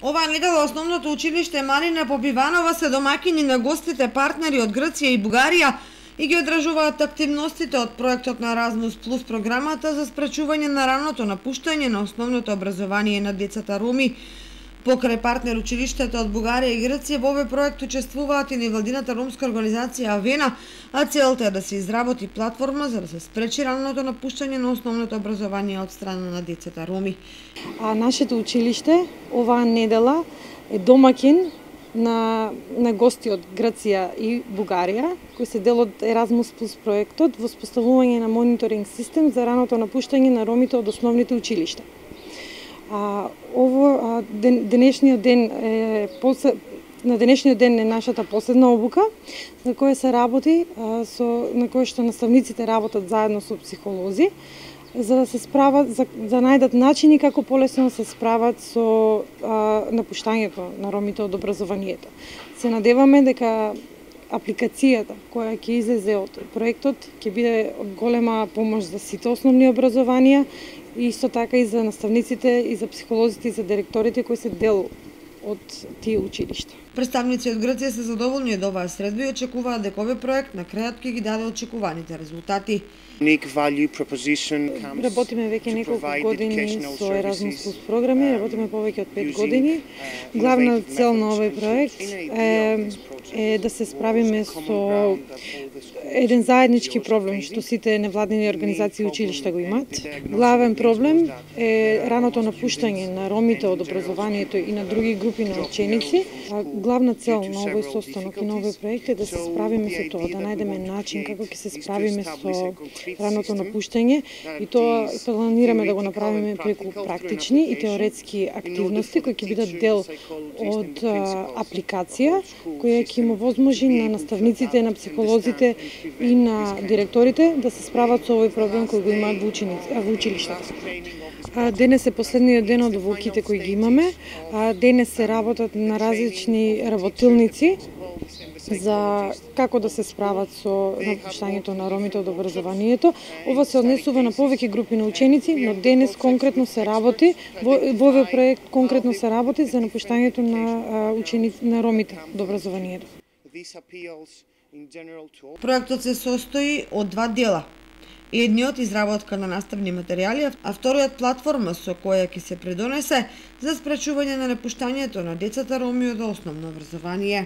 Оваа недела основното училиште Марина Попиванова се домаќини на гостите партнери од Грција и Бугарија и ги одржуваат активностите од проектот на Erasmus Plus програмата за спречување на раното напуштање на основното образование на децата роми. Покрај партнер училиштата од Бугарија и Грција, во овој проект учествуваат и невладината ромска организација Авена, а целта е да се изработи платформа за да се спречи раното напуштање на основното образование од страна на децата роми. Нашето училиште оваа недела е домаќин на гости од Грција и Бугарија, кои се дел од Erasmus Plus проектот во споставување на мониторинг систем за раното напуштање на ромите од основните училишта. Денешниот ден е нашата последна обука на која се работи, на која што наставниците работат заедно со психолози, за да се справат, за најдат начини како полесно се справат со напуштањето на ромите од образованието. Се надеваме дека апликацијата која ќе излезе од проектот ќе биде од голема помош за сите основни образованија и исто така и за наставниците, и за психолозите, и за директорите кои се дел од тие училишта. Представници од Грција се задоволни од оваа средба и очекуваат дека овој проект на крајот ќе ги даде очекуваните резултати. Работиме веќе неколку години со Erasmus Plus програми, работиме повеќе од 5 години. Главна цел на овој проект е да се справиме со еден заеднички проблем што сите невладини организации и училишта го имаат. Главен проблем е раното напуштање на ромите од образованието и на други групи на ученици. Главна цел на овој состанок и на овој проект е да се справиме со тоа, да најдеме начин како ќе се справиме со раното напуштање и тоа планираме да го направиме преку практични и теоретски активности кои ќе бидат дел од апликација која ќе им овозможи на наставниците, на психолозите и на директорите да се справат со овој проблем кој го имаат во училиштата. Денес е последниот ден од обуките кои ги имаме. Денес се работат на различни работилници за како да се справат со напуштањето на ромите од образованието. Ова се однесува на повеќе групи на ученици, но денес конкретно се работи, во овој проект конкретно се работи за напуштањето на ученици на ромите од образованието. Проектот се состои од два дела. Едниот изработка на наставни материјали, а вториот платформа со која ќе се придонесе за спречување на напуштањето на децата роми од основно образование.